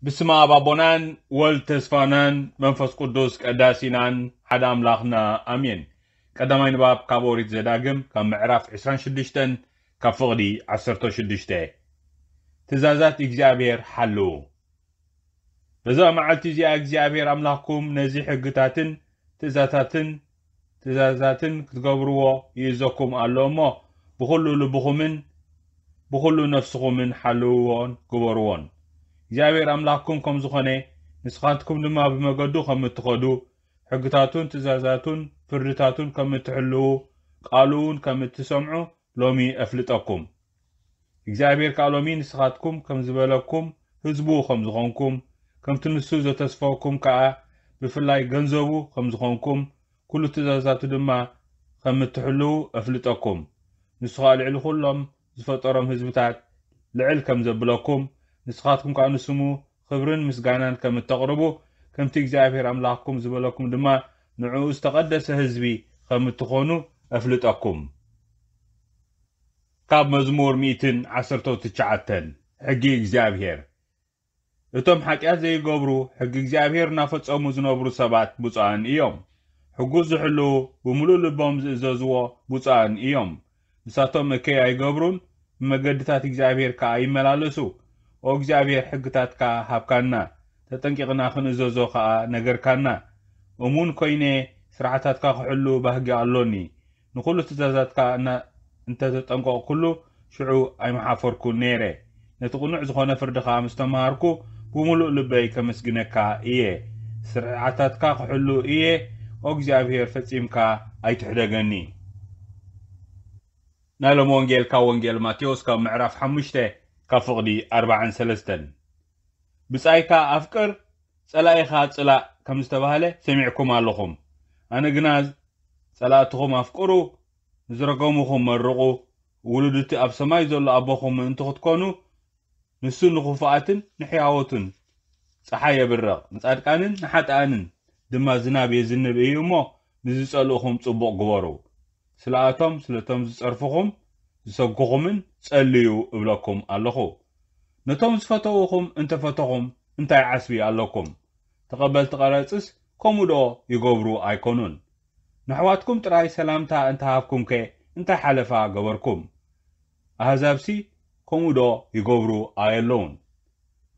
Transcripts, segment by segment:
ብስመ ኣብ ኣቦናን ወልድ ተስፋናን መንፈስ ቅዱስ ቀዳሲናን ሓደ ኣምላኽና ኣሜን። ቀዳማይ ንባብ ካብ ኦሪት ዘዳግም ካብ ምዕራፍ ዕስራን ሽዱሽተን ካብ ፍቕዲ ዓሰርተ ሽዱሽተ። ትእዛዛት እግዚኣብሔር ሓልዉ። በዛ መዓልቲ እዚኣ እግዚኣብሔር ኣምላኽኩም ነዚ ሕግታትን ትእዛታትን ትእዛዛትን ክትገብርዎ ይእዘኩም ኣሎ እሞ ብኹሉ ልብኹምን ብኹሉ ነፍስኹምን ሓልውዎን ግበርዎን። እግዚኣብሔር ኣምላኽኩም ከም ዝኾነ ንስኻትኩም ድማ ብመገዱ ከም እትኸዱ ሕግታቱን ትእዛዛቱን ፍርድታቱን ከም እትሕልዉ ቃሉ እውን ከም እትሰምዑ ሎሚ እፍልጠኩም። እግዚኣብሔር ከኣ ሎሚ ንስኻትኩም ከም ዝበለኩም ህዝቡ ከም ዝኾንኩም ከምቲ ንሱ ዘተስፈኩም ከኣ ብፍላይ ገንዘቡ ከም ዝኾንኩም ኩሉ ትእዛዛቱ ድማ ከም እትሕልዉ እፍልጠኩም። ንሱ ከኣ ልዕሊ ኩሎም ዝፈጠሮም ህዝብታት ልዕል ከም ዘብለኩም ንስኻትኩም ከኣ ንስሙ ክብርን ምስጋናን ከም እተቕርቡ ከምቲ እግዚኣብሔር ኣምላኽኩም ዝበለኩም ድማ ንዕኡ ዝተቐደሰ ህዝቢ ከም እትኾኑ እፍልጠኩም። ካብ መዝሙር ሚእትን ዓሰርተ ትሽዓተን። ሕጊ እግዚኣብሔር። እቶም ሓጢኣት ዘይገብሩ ሕጊ እግዚኣብሔር እናፈጸሙ ዝነብሩ ሰባት ብፁዓን እዮም። ሕጉ ዝሕልዉ ብምሉእ ልቦም ዝእዘዝዎ ብፁዓን እዮም። ንሳቶም እከይ ኣይገብሩን ብመገድታት እግዚኣብሔር ከኣ ይመላለሱ። ኦ እግዚኣብሔር ሕግታትካ ሃብካና፣ ተጠንቂቕና ክንእዘዞ ከኣ ነገርካና። እሙን ኮይነ ስርዓታትካ ክሕሉ ባህጊ ኣሎኒ። ንኹሉ ትእዛዛትካ እና እንተ ተጠንቀቕኩሉ ሽዑ ኣይምሓፈርኩን ነይረ። ነቲ ቅኑዕ ዝኾነ ፍርድኻ ምስ ተመሃርኩ ብምሉእ ልበይ ከመስግነካ እየ። ስርዓታትካ ክሕሉ እየ። ኦ እግዚኣብሔር ፈጺምካ ኣይትሕደገኒ። ናይ ሎም ወንጌል ካብ ወንጌል ማቴዎስ ካብ ምዕራፍ ሓሙሽተ ካብ ፍቕዲ ኣርባዓን ሰለስተን። ብጻይካ ኣፍቅር ጸላኢኻ ጽላእ ከም ዝተባህለ ሰሚዕኩም ኣለኹም። ኣነ ግና ጸላእትኹም ኣፍቅሩ፣ ንዝረገሙኹም መርቑ፣ ውሉድ እቲ ኣብ ሰማይ ዘሎ ኣቦኹም ምእንቲ ክትኮኑ ንሱ ንኽፉኣትን ንሕያወቱን ጸሓይ የብርቕ፣ ንጻድቃንን ንሓጥኣንን ድማ ዝናብ የዝንብ እዩ እሞ ንዝጸልእኹም ጽቡቕ ግበሩ። ስለኣቶም ስለቶም ዝጸርፍኹም ዝሰጉኹምን ጸልዩ እብለኩም ኣለኹ። ነቶም ዝፈተውኹም እንተፈተኹም እንታይ ዓስቢ ኣለኩም? ተቐበልቲ ቀረጽስ ከምኡ ዶ ይገብሩ ኣይኮኑን? ንኣሕዋትኩም ጥራይ ሰላምታ እንተሃብኩምከ እንታይ ሓለፋ ገበርኩም? ኣህዛብሲ ከምኡ ዶ ይገብሩ ኣየለውን?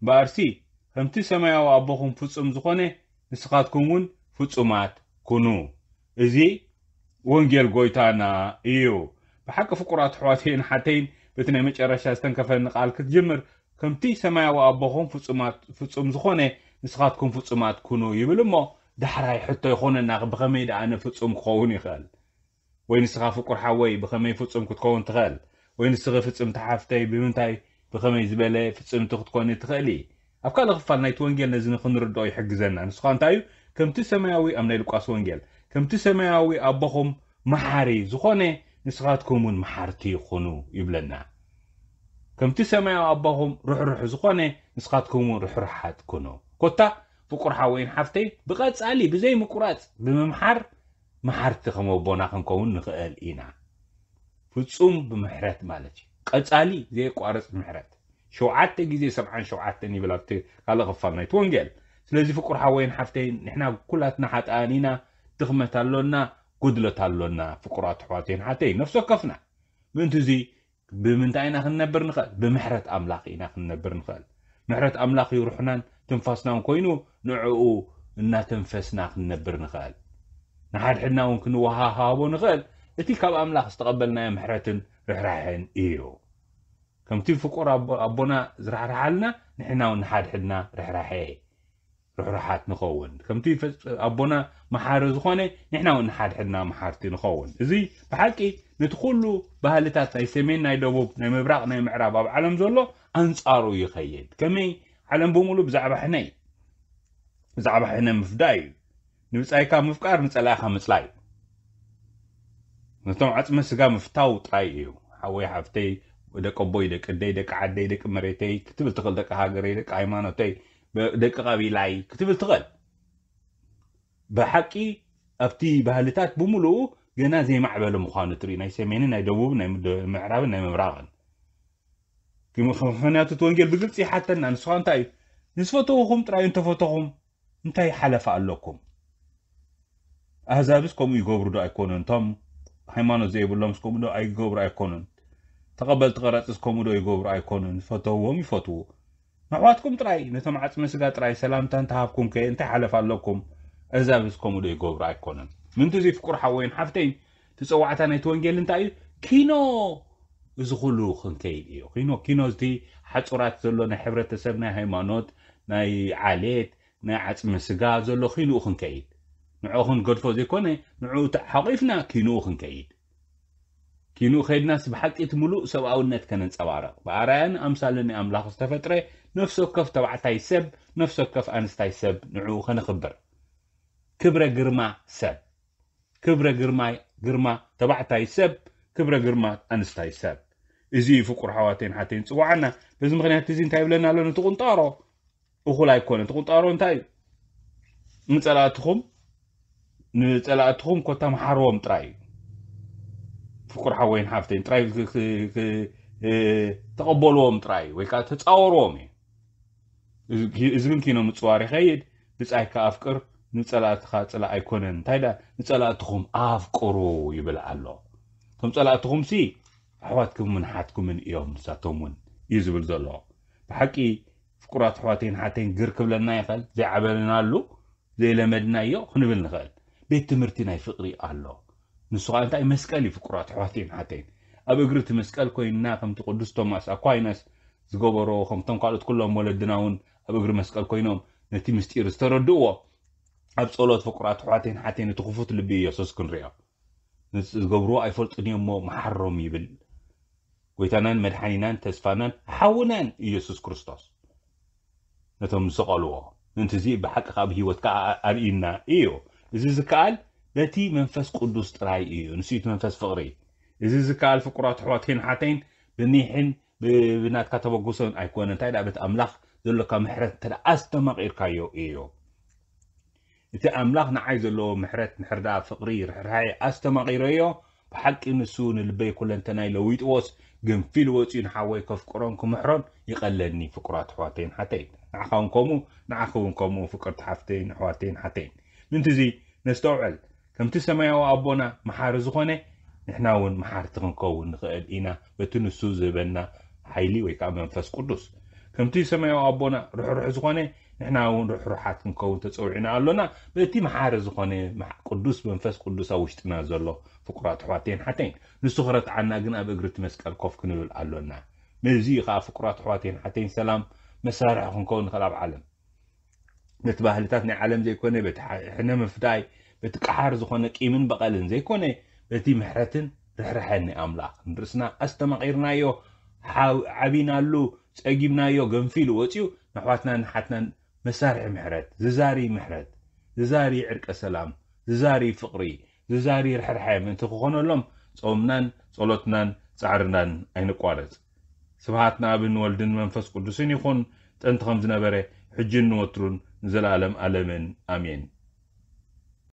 እምበኣርሲ ከምቲ ሰማያዊ ኣቦኹም ፍጹም ዝኾነ ንስኻትኩም እውን ፍጹማት ኩኑ። እዚ ወንጌል ጎይታና እዩ። ብሓቂ ፍቁራት ኣሕዋተይን ሓተይን በቲ ናይ መጨረሻ ዝተንከፈኒ ቃል ክትጅምር ከምቲ ሰማያዊ ኣቦኹም ፍጹማት ፍጹም ዝኾነ ንስኻትኩም ፍጹማት ኩኑ ይብል እሞ ዳሕራይ ሕቶ ይኾነና ብኸመይ ደኣ ኣነ ፍጹም ክኸውን ይኽእል? ወይ ንስኻ ፍቁር ሓወይ ብኸመይ ፍጹም ክትከውን ትኽእል? ወይ ንስኺ ፍጽምቲ ሓፍተይ ብምንታይ ብኸመይ ዝበለ ፍጽምቲ ክትኮኒ ትኽእሊ? ኣብ ካልእ ክፋል ናይቲ ወንጌል ነዚ ንኽንርድኦ ይሕግዘና። ንሱ ኸኣ እንታይ እዩ? ከምቲ ሰማያዊ ኣብ ናይ ሉቃስ ወንጌል ከምቲ ሰማያዊ ኣቦኹም መሓሪ ዝኾነ ንስኻትኩም እውን መሓርቲ ኩኑ ይብለና። ከምቲ ሰማያዊ ኣቦኹም ርሕሩሕ ዝኾነ ንስኻትኩም እውን ርሕሩሓት ኩኑ። ኮታ ፍቁር ሓወይን ሓፍተይ ብቐጻሊ ብዘይ ምቁራጽ ብምምሓር መሓርቲ ከም ኣቦና ክንከውን ንኽእል ኢና። ፍጹም ብምሕረት ማለት እዩ። ቀጻሊ ዘየቋርጽ ምሕረት። ሸውዓተ ግዜ ሰብዓን ሸውዓተን ይብል ኣብቲ ካልእ ክፋል ናይቲ ወንጌል። ስለዚ ፍቁር ሓወይን ሓፍተይን ንሕና ኩላትና ሓጥኣን ኢና፣ ድኽመት ኣሎና፣ ጉድለት ኣሎና። ፍቁራት ኣሕዋተይን ሓተይን ነፍሲ ወከፍና። ምእንቲ እዚ ብምንታይ ኢና ክንነብር ንኽእል? ብምሕረት ኣምላኽ ኢና ክንነብር ንኽእል። ምሕረት ኣምላኽ እዩ ርሑናን ትንፋስናን ኮይኑ ንዕኡ እናተንፈስና ክንነብር ንኽእል። ንሓድሕድና እውን ክንወሃሃቦ ንኽእል። እቲ ካብ ኣምላኽ ዝተቐበልናዮ ምሕረትን ርሕራሕን እዩ። ከምቲ ፍቁር ኣቦ- ኣቦና ዝራሕርሓልና ንሕና እውን ንሓድሕድና ርሕራሐ ርሕሩሓት ንኸውን። ከምቲ ፈጽ- ኣቦና መሓሪ ዝኾነ ንሕና እውን ንሓድሕድና መሓርቲ ንኸውን። እዚ ብሓቂ ነቲ ኩሉ ባህልታት ናይ ሰሜን ናይ ደቡብ ናይ ምብራቕ ናይ ምዕራብ ኣብ ዓለም ዘሎ ኣንጻሩ ይኸይድ። ከመይ ዓለም ብምሉ ብዛዕባ ሕነ እዩ። ብዛዕባ ሕነ ምፍዳይ እዩ። ንብጻይካ ምፍቃር ንጸላእኻ ምጽላይ እዩ። ነቶም ዓጽመ ስጋ ምፍታው ጥራይ እዩ። ሓወይ ሓፍተይ ደቂ ኣቦይ ደቂ ኣደይ ደቂ ዓደይ ደቂ መሬተይ ክትብል ትኽእል ደቂ ሃገረይ ደቂ ሃይማኖተይ ደቂ ቀቢላይ ክትብል ትኽእል። ብሓቂ ኣብቲ ባህልታት ብምሉኡ ገና ዘይማዕበለ ምዃኑ ትርኢ ናይ ሰሜንን ናይ ደቡብን ናይ ምዕራብን ናይ ምብራቕን። ምኽንያቱ እቲ ወንጌል ብግልፂ ይሓተና። ንስኻ እንታይ እዩ? ንዝፈተውኹም ጥራይ እንተፈተኹም እንታይ ሓለፋ ኣለኩም? ኣህዛብስ ከምኡ ይገብሩ ዶ ኣይኮኑን? እቶም ሃይማኖት ዘይብሎምስ ከምኡ ዶ ኣይገብሩ ኣይኮኑን? ተቐበልቲ ቀረጽስ ከምኡ ዶ ይገብሩ ኣይኮኑን? ዝፈተውዎም ይፈትዉ። ንኣሕዋትኩም ጥራይ፣ ነቶም ዓጽመ ስጋ ጥራይ ሰላምታ እንተሃብኩም ከ እንታይ ሓለፋ ኣለኩም? ኣህዛብስ ከምኡ ዶ ይገብሩ ኣይኮኑን? ምንቲ እዚ ፍቁር ሓወይን ሓፍተይን፣ እቲ ጸዋዕታ ናይቲ ወንጌል እንታይ እዩ? ኪኖ እዚ ኩሉ ክንከይድ እዩ። ኪኖ፣ ኪኖ እቲ ሓጹራት ዘሎ ናይ ሕብረተሰብ፣ ናይ ሃይማኖት፣ ናይ ዓሌት፣ ናይ ዓጽመ ስጋ ዘሎ ኪንኡ ክንከይድ። ንዕኡ ክንገድፎ ዘይኮነ፣ ንዕኡ ተሓቂፍና ኪንኡ ክንከይድ። ኪንኡ ከይድናስ ብሓቂ እቲ ምሉእ ሰብኣውነት ከነንጸባርቕ። ብኣርኣያን ኣምሳልን ኣምላኽ ዝተፈጥረ ነፍሲ ወከፍ ተባዕታይ ሰብ፣ ነፍሲ ወከፍ ኣንስታይ ሰብ ንዕኡ ከነኽብር። ክብረ ግርማ ሰብ። ክብረ ግርማ፣ ግርማ ተባዕታይ ሰብ፣ ክብረ ግርማ ኣንስታይ ሰብ። እዚ እዩ ፍቁር ኣሕዋተይን ኣሓተይን ዝጽውዓና። በዚ ምኽንያት እዚ እንታይ ይብለና ኣሎ? ነቲ ቁንጣሮ እኹል ኣይኮነን። እቲ ቁንጣሮ እንታይ እዩ? ንጸላእትኹም፣ ንጸላእትኹም ኮታ መሓርዎም ጥራይ እዩ። ፍቁር ሓወይን ሓፍተይን ጥራይ ክ-፣ ክ-፣ ክ-፣ እ፣ ተቐበልዎም ጥራይ እዩ፣ ወይ ከዓ ተጻወርዎም እዩ። እዚ፣ እዚ ግን ኪኖ ምጽዋር ይኸይድ። ብጻይካ ኣፍቅር፣ ንጸላእትኻ ጽላእ ኣይኮነን። እንታይ ደኣ? ንጸላእትኹም ኣፍቅሩ ይብል ኣሎ። እቶም ጸላእትኹምሲ ኣሕዋትኩምን ኣሓትኩምን እዮም፣ ንሳቶም እውን እዩ ዝብል ዘሎ። ብሓቂ ፍቁራት ኣሕዋተይን ኣሓተይን ግር ክብለና ይኽእል፣ ዘይዓበናሉ፣ ዘይለመድናዮ ክንብል ንኽእል። ቤት ትምህርቲ ናይ ፍቕሪ ኣሎ። ንሱ ኸኣ እንታይ? መስቀል እዩ። ፍቁራት ኣሕዋተይን ኣሓተይን፣ ኣብ እግሪ እቲ መስቀል ኮይንና፣ ከምቲ ቅዱስ ቶማስ ኣኳይናስ ዝገበሮ፣ ከምቶም ካልኦት ኩሎም ወለድና እውን ኣብ እግሪ መስቀል ኮይኖም ነቲ ምስጢር ዝተረድእዎ፣ ኣብ ጸሎት ፍቁራት ኣሕዋተይን ኣሓተይን እቲ ክፉት ልቢ ኢየሱስ ክንሪኦ። ነቲ ዝገብርዎ ኣይፈልጡን እዮም እሞ መሓሮም ይብል። ጎይታናን መድሓኒናን ተስፋናን ሓውናን ኢየሱስ ክርስቶስ ነቶም ዝሰቐልዎ። ምእንቲ እዚ ብሓቂ ካብ ህይወትካ ኣ-፣ ኣርእዩና እዩ። እዚ ዝከኣል በቲ መንፈስ ቅዱስ ጥራይ እዩ። ንሱ እቲ መንፈስ ፍቕሪ። እዚ ዝከኣል ፍቁራት ኣሕዋተይን ኣሓተይን ብኒሕን ብ-፣ ብናትካ ተበግሶን ኣይኮነን። እንታይ ደኣ በቲ ኣምላኽ ዘሎካ ምሕረት እንተ ደኣ ኣስተማቒርካዮ እዩ። እቲ ኣምላኽ ንዓይ ዘለዎ ምሕረት፣ ምሕርዳእ፣ ፍቕሪ፣ ርሕራሐ ኣስተማቒረዮ፣ ብሓቂ ንሱ ንልበይ ኩለንተናይ ለዊጥዎስ፣ ገንፊሉ ወጺኡ ንሓወይ ከፍቅሮን ክምሕሮን ይቐለኒ። ፍቁራት ኣሕዋተይን ኣሓተይን፣ ንዓኻ እውን ከምኡ፣ ንዓኺ እውን ከምኡ፣ ፍቅርቲ ሓፍተይን ኣሕዋተይን ኣሓተይን። ምእንቲ እዚ ነስተውዕል። ከምቲ ሰማያዊ ኣቦና መሓሪ ዝኾነ፣ ንሕና እውን መሓርቲ ክንከውን ንኽእል ኢና፣ በቲ ንሱ ዝህበና ሓይሊ ወይ ከዓ መንፈስ ቅዱስ። ከምቲ ሰማያዊ ኣቦና ርሕሩሕ ዝኾነ፣ ንሕና እውን ርሕሩሓት ክንከውን ተጸዊዕና ኣሎና፣ በቲ መሓሪ ዝኾነ መሕ-፣ ቅዱስ መንፈስ ቅዱስ ኣብ ውሽጥና ዘሎ። ፍቁራት ኣሕዋተይን ኣሓተይን፣ ንሱ ክረትዓና ግን ኣብ እግሪ እቲ መስቀል ኮፍ ክንብል ኣሎና። ነዚ እዩ ከዓ ፍቁራት ኣሕዋተይን ኣሓተይን ሰላም መሳርሒ ክንከውን ንኽእል ኣብ ዓለም። በቲ ባህልታት ናይ ዓለም ዘይኮነ፣ በቲ ሕ-፣ ሕነ ምፍዳይ፣ በቲ ቀሓር ዝኾነ ቂምን በቐልን ዘይኮነ፣ በቲ ምሕረትን ርሕራሐን ናይ ኣምላኽ ንርእስና ኣስተማቒርናዮ፣ ሓው-፣ ዓቢናሉ፣ ጸጊብናዮ፣ ገንፊሉ ወጺኡ፣ ንኣሕዋትናን ንሓትናን መሳርሒ ምሕረት፣ ዝዛሪ ምሕረት፣ ዝዛሪ ዕርቀ ሰላም፣ ዝዛሪ ፍቕሪ፣ ዝዛሪ ርሕራሐ ምእንቲ ክኾነሎም፣ ጾምናን ጸሎትናን ጻዕርናን ኣይንቋረጽ። ስብሃት ንኣብን ወልድን መንፈስ ቅዱስን ይኹን፣ ጥንቲ ከም ዝነበረ፣ ሕጅን ንወትሩን ንዘለኣለም ኣለምን። ኣሜን።